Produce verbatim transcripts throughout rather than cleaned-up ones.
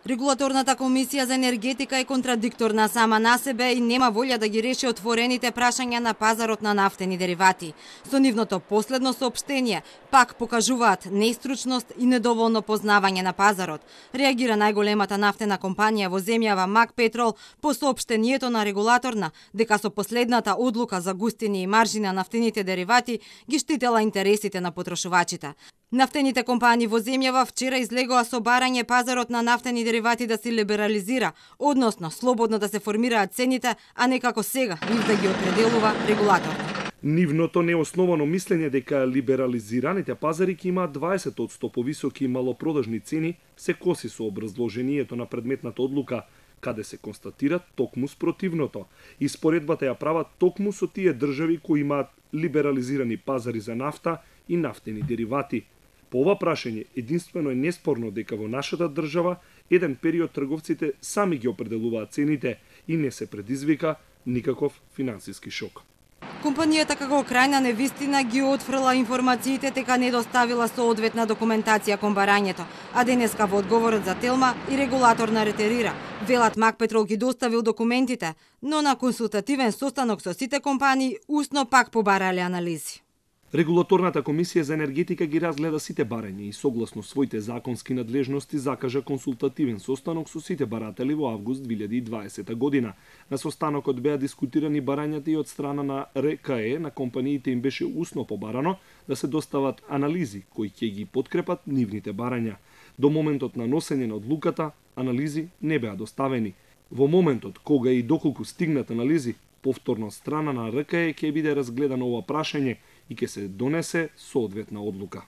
Регулаторната комисија за енергетика е контрадикторна сама на себе и нема волја да ги реши отворените прашања на пазарот на нафтени деривати. Со нивното последно соопштение пак покажуваат неистручност и недоволно познавање на пазарот. Реагира најголемата нафтена компанија во земјава Макпетрол по соопштението на регулаторна дека со последната одлука за густини и маржи на нафтените деривати ги штитела интересите на потрошувачите. Нафтените компании во земјава вчера излегоа со барање пазарот на нафтени деривати да се либерализира, односно слободно да се формираат цените, а не како сега нив да ги определува регулатор. Нивното неосновано мислење дека либерализираните пазари ќе имаат дваесет одсто повисоки и малопродажни цени се коси со образложението на предметната одлука, каде се констатира токму спротивното. И споредбата ја прават токму со тие држави кои имаат либерализирани пазари за нафта и нафтени деривати. По ова прашање единствено е неспорно дека во нашата држава еден период трговците сами ги определуваат цените и не се предизвика никаков финансиски шок. Компанијата како крајна невистина ги отфрла информациите дека не доставила соодветна документација кон барањето, а денеска во одговорот за Телма и регулаторна ретерира. Велат Макпетрол ги доставил документите, но на консултативен состанок со сите компании усно пак побарале анализи. Регулаторната комисија за енергетика ги разгледа сите барања и согласно своите законски надлежности закажа консултативен состанок со сите баратели во август две илјади и дваесета година. На состанокот беа дискутирани барањата и од страна на Р К Е на компаниите им беше усно побарано да се достават анализи кои ќе ги подкрепат нивните барања. До моментот на носење на одлуката анализи не беа доставени. Во моментот кога и доколку стигнат анализи, повторно од страна на Р К Е ќе биде разгледано ова прашање и ќе се донесе соодветна одлука.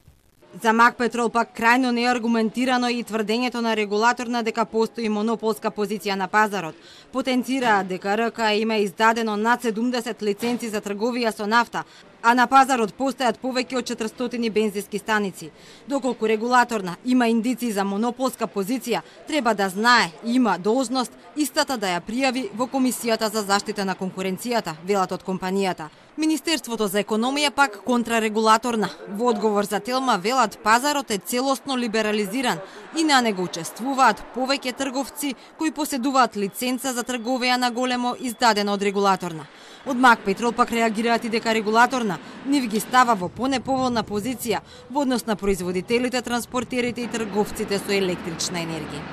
За Макпетрол пак крајно неаргументирано и тврдењето на регулаторна дека постои монополска позиција на пазарот. Потенцираа дека Р К Е има издадено над седумдесет лиценци за трговија со нафта, а на пазарот постојат повеќе од четиристотини бензински станици. Доколку регулаторна има индици за монополска позиција, треба да знае и има должност истата да ја пријави во Комисијата за заштита на конкуренцијата, велат од компанијата. Министерството за економија пак контрарегулаторна. Во одговор за Телма велат пазарот е целосно либерализиран и на него учествуваат повеќе трговци кои поседуваат лиценца за трговија на големо издадена од регулаторна. Од Макпетрол пак реагираат и дека регулаторна нив ги става во понеповолна позиција во однос на производителите, транспортерите и трговците со електрична енергија.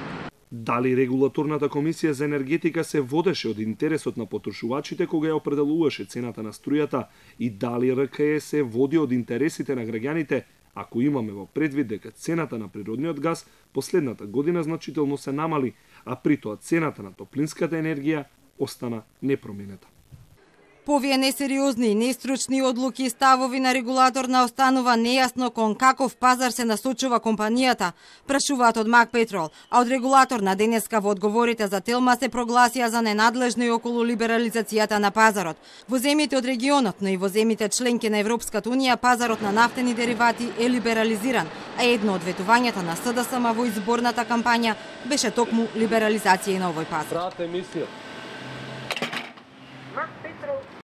Дали регулаторната комисија за енергетика се водеше од интересот на потрошувачите кога ја определуваше цената на струјата и дали Р К Е се води од интересите на граѓаните, ако имаме во предвид дека цената на природниот газ последната година значително се намали, а при тоа цената на топлинската енергија остана непроменета. По овие несериозни и нестручни одлуки и ставови на регулаторна останува нејасно кон каков пазар се насочува компанијата, прашуваат од Макпетрол, а од регулаторна денеска во одговорите за Телма се прогласија за ненадлежно и околу либерализацијата на пазарот. Во земјите од регионот, но и во земјите членки на Европската унија, пазарот на нафтени деривати е либерализиран, а едно од ветувањата на С Д С М во изборната кампања беше токму либерализација и на овој пазар.